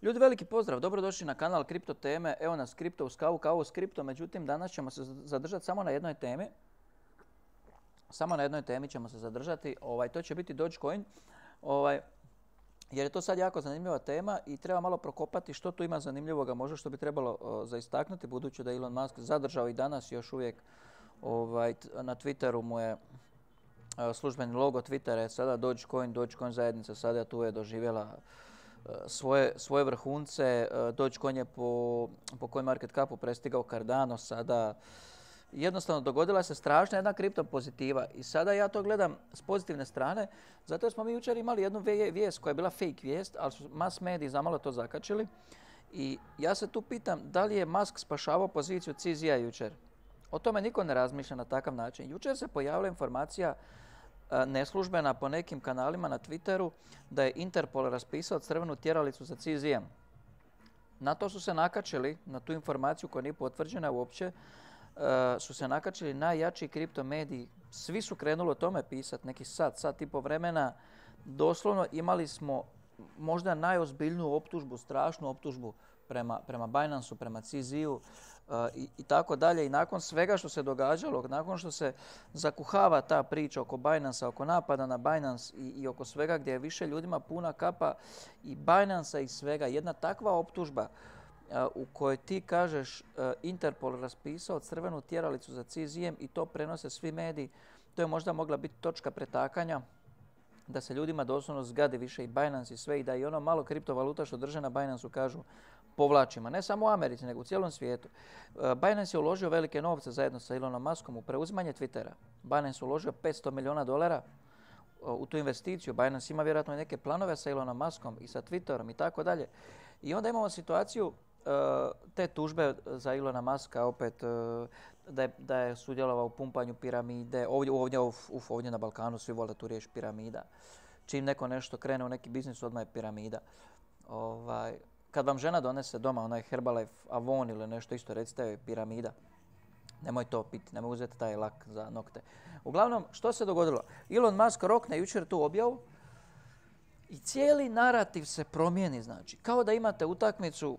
Ljudi, veliki pozdrav, dobrodošli na kanal Kripto teme. Evo nas Kripto uz kavu, kavu s kripto. Međutim, danas ćemo se zadržati samo na jednoj temi. Samo na jednoj temi ćemo se zadržati. To će biti Dogecoin. Jer je to sad jako zanimljiva tema i treba malo prokopati što tu ima zanimljivoga, možda što bi trebalo za istaknuti, budući da je Elon Musk zadržao i danas još uvijek na Twitteru mu je službeni logo Twittera je sada Dogecoin zajednica sada tu je doživjela svoje vrhunce. Dogecoin je po CoinMarket Capu prestigao Cardano sada. Jednostavno dogodila se strašna jedna kripto pozitiva i sada ja to gledam s pozitivne strane, zato jer smo mi jučer imali jednu vijest koja je bila fake vijest, ali su mass mediji zamalo to zakačili i ja se tu pitam da li je Musk spašavao poziciju CZ-a jučer. O tome niko ne razmišlja na takav način. Jučer se pojavila informacija neslužbena po nekim kanalima na Twitteru da je Interpol raspisao crvenu tjeralicu za CZ-em. Na to su se nakačili, na tu informaciju koja nije potvrđena uopće, su se nakačili najjači kripto mediji. Svi su krenuli o tome pisati, neki sat i po vremena. Doslovno imali smo možda najozbiljniju optužbu, strašnu optužbu prema Binance-u, prema CZ-u i tako dalje. I nakon svega što se događalo, nakon što se zakuhava ta priča oko Binance-a, oko napada na Binance i oko svega gdje je više ljudima puna kapa i Binance-a i svega, jedna takva optužba u kojoj ti kažeš Interpol raspisao crvenu tjeralicu za CZ-em i to prenose svi mediji, to je možda mogla biti točka pretakanja da se ljudima doslovno zgadi više i Binance i sve i da i ono malo kriptovaluta što drže na Binance-u kažu povlačimo. Ne samo u Americi, nego u cijelom svijetu. Binance je uložio velike novce zajedno sa Elonom Muskom u preuzimanje Twittera. Binance je uložio $500 milijuna u tu investiciju. Binance ima vjerojatno i neke planove sa Elonom Muskom i sa Twitterom i tako dalje. I onda imamo situaciju te tužbe za Elona Muska opet da je sudjelovao u pumpanju piramide. Ovdje na Balkanu svi vole tu riječ piramida. Čim neko nešto krene u neki biznis, odmah je piramida. Kad vam žena donese doma onaj Herbalife Avon ili nešto isto, recite joj piramida. Nemoj to piti, nemoj uzeti taj lak za nokte. Uglavnom, što se dogodilo? Elon Musk rokne jučer tu objavu i cijeli narativ se promijeni. Znači, kao da imate utakmicu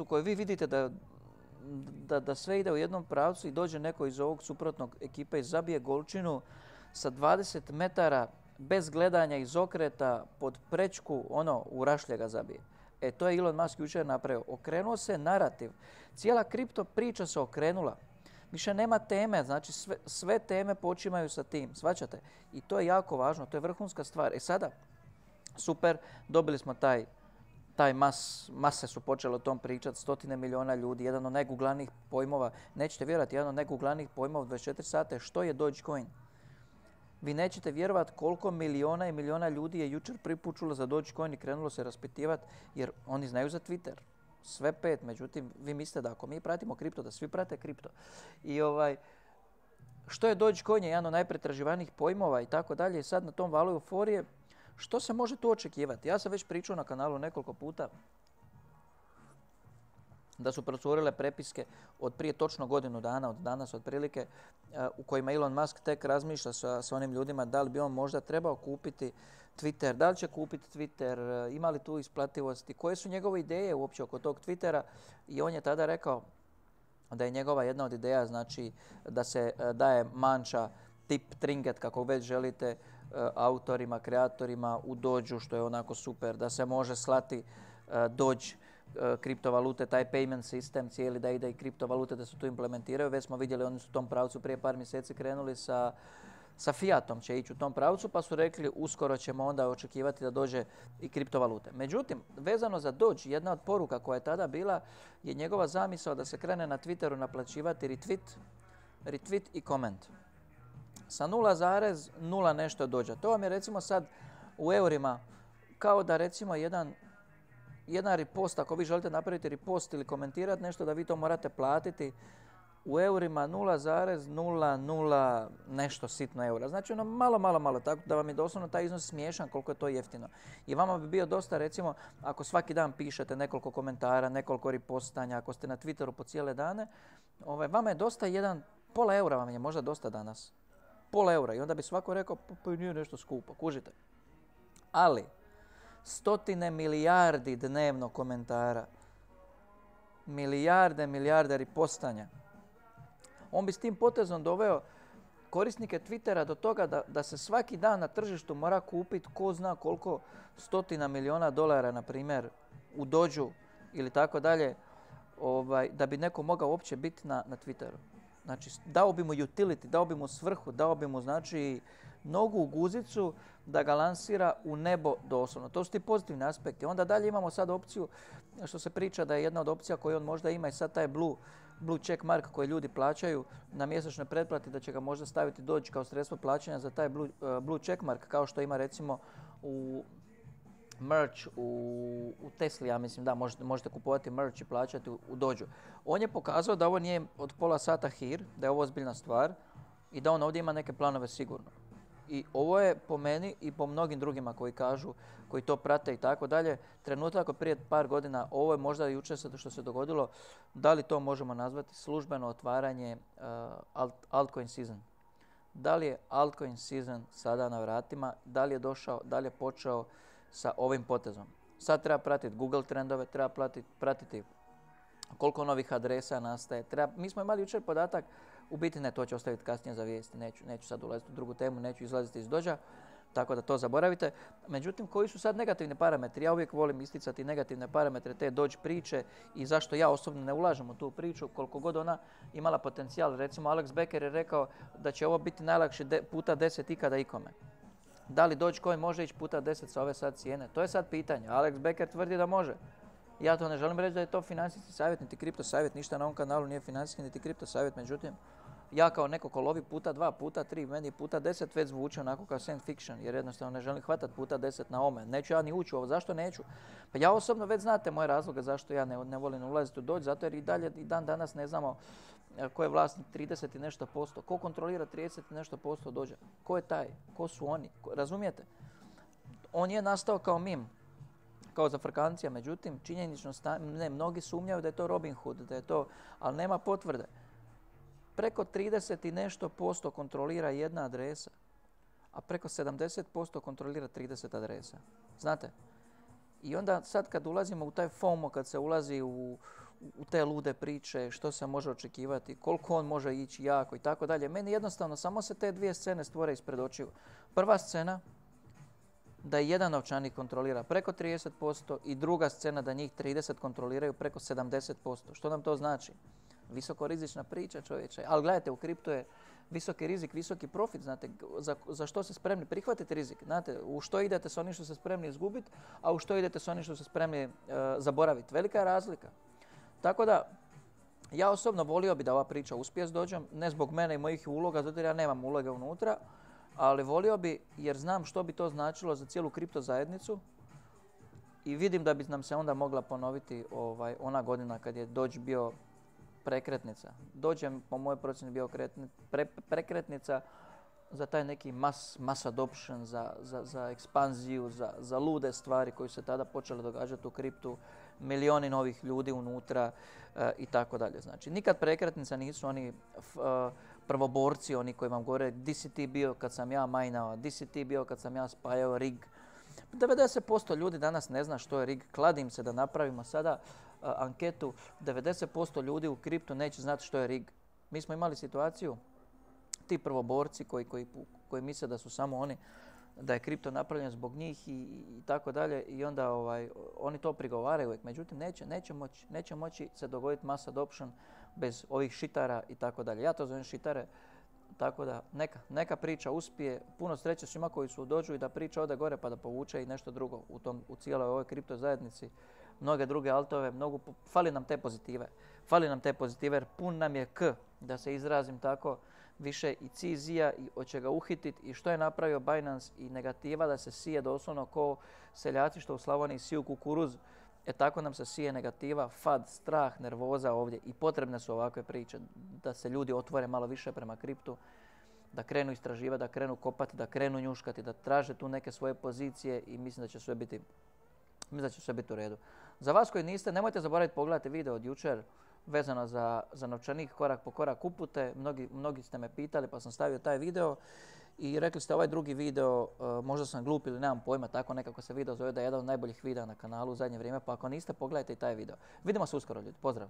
u kojoj vi vidite da sve ide u jednom pravcu i dođe neko iz ovog suprotnog ekipe i zabije golčinu sa 20 metara bez gledanja iz okreta pod prečku, u rašlje ga zabije. To je Elon Musk jučer napravio. Okrenuo se narativ. Cijela kripto priča se okrenula. Više nema teme, znači sve teme počimaju sa tim, shvaćate? I to je jako važno, to je vrhunska stvar. Sada, super, dobili smo mase su počele o tom pričati, 100 milijuna ljudi, jedan od najguglanijih pojmova, nećete vjerovati, jedan od najguglanijih pojmova 24 sata, što je Dogecoin? Vi nećete vjerovati koliko milijuna i milijuna ljudi je jučer prvi put čulo za Dogecoin i krenulo se raspitivati jer oni znaju za Twitter. Sve 5, međutim, vi mislite da ako mi pratimo kripto, da svi prate kripto. I što je Dogecoin je jedan od najpretraživanijih pojmova i tako dalje i sad na tom valu euforije, što se može tu očekivati? Ja sam već pričao na kanalu nekoliko puta da su procurile prepiske od prije točno godinu dana, od danas otprilike, u kojima Elon Musk tek razmišlja sa onim ljudima da li bi on možda trebao kupiti Twitter, da li će kupiti Twitter, ima li tu isplativosti, koje su njegove ideje uopće oko tog Twittera i on je tada rekao da je njegova jedna od ideja znači da se daje manča, tip, trinket, kako već želite, autorima, kreatorima u Dođu, što je onako super, da se može slati Dođ kriptovalute, taj payment sistem cijeli da ide i kriptovalute da se tu implementiraju. Već smo vidjeli, oni su u tom pravcu prije par mjeseci krenuli sa Fiatom će ići u tom pravcu, pa su rekli uskoro ćemo onda očekivati da dođe i kriptovalute. Međutim, vezano za Doge, jedna od poruka koja je tada bila je njegova zamisao da se krene na Twitteru naplaćivati retweet i koment. Sa 0,0 nešto dođe. To vam je recimo sad u eurima kao da recimo jedan repost, ako vi želite napraviti repost ili komentirati nešto da vi to morate platiti u eurima 0,00 nešto sitno eura. Znači malo, tako da vam je doslovno taj iznos smiješan koliko je to jeftino. I vama bi bio dosta recimo ako svaki dan pišete nekoliko komentara, nekoliko repostanja, ako ste na Twitteru po cijele dane, vama je dosta pola eura vam je možda dosta danas. Pola eura i onda bi svako rekao pa nije nešto skupo, kužite. Ali 100 milijardi dnevno komentara. Milijarde ripostanja. On bi s tim potezom doveo korisnike Twittera do toga da se svaki dan na tržištu mora kupiti ko zna koliko $100 miliona, na primjer, u Dođu ili tako dalje, da bi neko mogao uopće biti na Twitteru. Znači, dao bi mu utility, dao bi mu svrhu, dao bi mu, znači, nogu u guzicu da ga lansira u nebo doslovno. To su ti pozitivni aspekti. Onda dalje imamo sad opciju, što se priča da je jedna od opcija koju on možda ima i sad taj blue check mark koji ljudi plaćaju na mjesečnoj pretplati, da će ga možda staviti Dođ kao sredstvo plaćanja za taj blue check mark, kao što ima recimo u merch u Tesli, ja mislim, da, možete kupovati merch i plaćati u Dođu. On je pokazao da ovo nije od pola sata hir, da je ovo ozbiljna stvar i da on ovdje ima neke planove sigurno. I ovo je po meni i po mnogim drugima koji kažu, koji to prate i tako dalje, trenutak od prije par godina, ovo je možda jučer što se dogodilo, da li to možemo nazvati službeno otvaranje altcoin season. Da li je altcoin season sada na vratima, da li je došao, da li je počeo sa ovim potezom. Sad treba pratiti Google trendove, treba pratiti koliko novih adresa nastaje. Mi smo imali jučer podatak, u biti ne, to ću ostaviti kasnije za vijesti, neću sad ulaziti u drugu temu, neću izlaziti iz Dođa, tako da to zaboravite. Međutim, koji su sad negativni parametri? Ja uvijek volim isticati negativne parametre te Dođ priče i zašto ja osobno ne ulažem u tu priču, koliko god ona imala potencijal. Recimo, Alex Becker je rekao da će ovo biti najlakši puta 10 ikada ikome. Da li Dogecoin može ići puta 10 sa ove sad cijene? To je sad pitanje. Alex Becker tvrdi da može. Ja to ne želim reći da je to financijski savjet, niti kripto savjet, ništa na ovom kanalu nije financijski, niti kripto savjet. Međutim, ja kao neko ko lovi puta 2, puta 3, meni puta 10 već zvuči onako kao science fiction, jer jednostavno ne želim hvatati puta 10 na ome. Neću ja ni ući u ovo. Zašto neću? Pa ja osobno već znate moje razloge zašto ja ne volim ulaziti u Dođ, zato jer i dalje i dan danas ne znamo ko je vlasnik 30 i nešto posto, ko kontrolira 30 i nešto posto Dođa, ko je taj, ko su oni, razumijete? On je nastao kao mim, kao zafrkancija, međutim, činjenično ne, mnogi sumnjaju da je to Robin Hood, da je to, ali nema potvrde. Preko 30 i nešto posto kontrolira jedna adresa, a preko 70% kontrolira 30 adresa. Znate? I onda sad kad ulazimo u taj FOMO, kad se ulazi u te lude priče, što se može očekivati, koliko on može ići jako i tako dalje, meni jednostavno samo se te dvije scene stvore ispred očiju. Prva scena, da jedan novčanik kontrolira preko 30% i druga scena da njih 30 kontroliraju preko 70%. Što nam to znači? Visokorizična priča, čovječe. Ali gledajte, u kriptu je visoki rizik, visoki profit. Znate, za što ste spremni prihvatiti rizik? Znate, u što idete s onim što ste spremni izgubiti, a u što idete s onim što ste spremni zaboraviti. Velika je razlika. Tako da, ja osobno volio bi da ova priča uspije s Dođom, ne zbog mene i mojih uloga, zato jer ja nemam uloge unutra, ali volio bi jer znam što bi to značilo za cijelu kripto zajednicu i vidim da bi nam se onda mogla ponoviti ona godina kad je Dođ bio prekretnica. Dođ je po mojoj procjeni bio prekretnica za taj neki mass adoption, za ekspanziju, za lude stvari koje su se tada počele događati u kriptu, milioni novih ljudi unutra i tako dalje. Znači, nikad prekretnica nisu oni prvoborci, oni koji vam govore di si ti bio kad sam ja majnao, di si ti bio kad sam ja spajao rig. 90% ljudi danas ne zna što je rig. Kladim se da napravimo sada anketu. 90% ljudi u kriptu neće znati što je rig. Mi smo imali situaciju, ti prvoborci koji misle da su samo oni, da je kripto napravljen zbog njih i tako dalje i onda oni to prigovaraju uvijek. Međutim, neće moći se dogoditi mass adoption bez ovih šitara i tako dalje. Ja to zovem šitare, tako da neka priča uspije. Puno sreće svima koji su u Dođu i da priča ode gore pa da povuče i nešto drugo u cijeloj ovoj kripto zajednici. Mnoge druge altove, fali nam te pozitive. Fali nam te pozitive jer pun nam je da se izrazim tako, više i cizija i hoće ga uhititi i što je napravio Binance i negativa da se sije doslovno ko seljaci što u Slavoniji siju kukuruz. Tako nam se sije negativa, fad, strah, nervoza ovdje i potrebne su ovakve priče da se ljudi otvore malo više prema kriptu, da krenu istraživati, da krenu kopati, da krenu njuškati, da traže tu neke svoje pozicije i mislim da će sve biti u redu. Za vas koji niste, nemojte zaboraviti pogledati video od jučer vezano za novčanik korak po korak upute. Mnogi ste me pitali pa sam stavio taj video I rekli ste ovaj drugi video, možda sam glup ili nemam pojma, tako nekako se video zove da je jedan od najboljih videa na kanalu u zadnje vrijeme, pa ako niste pogledajte i taj video. Vidimo se uskoro ljudi, pozdrav!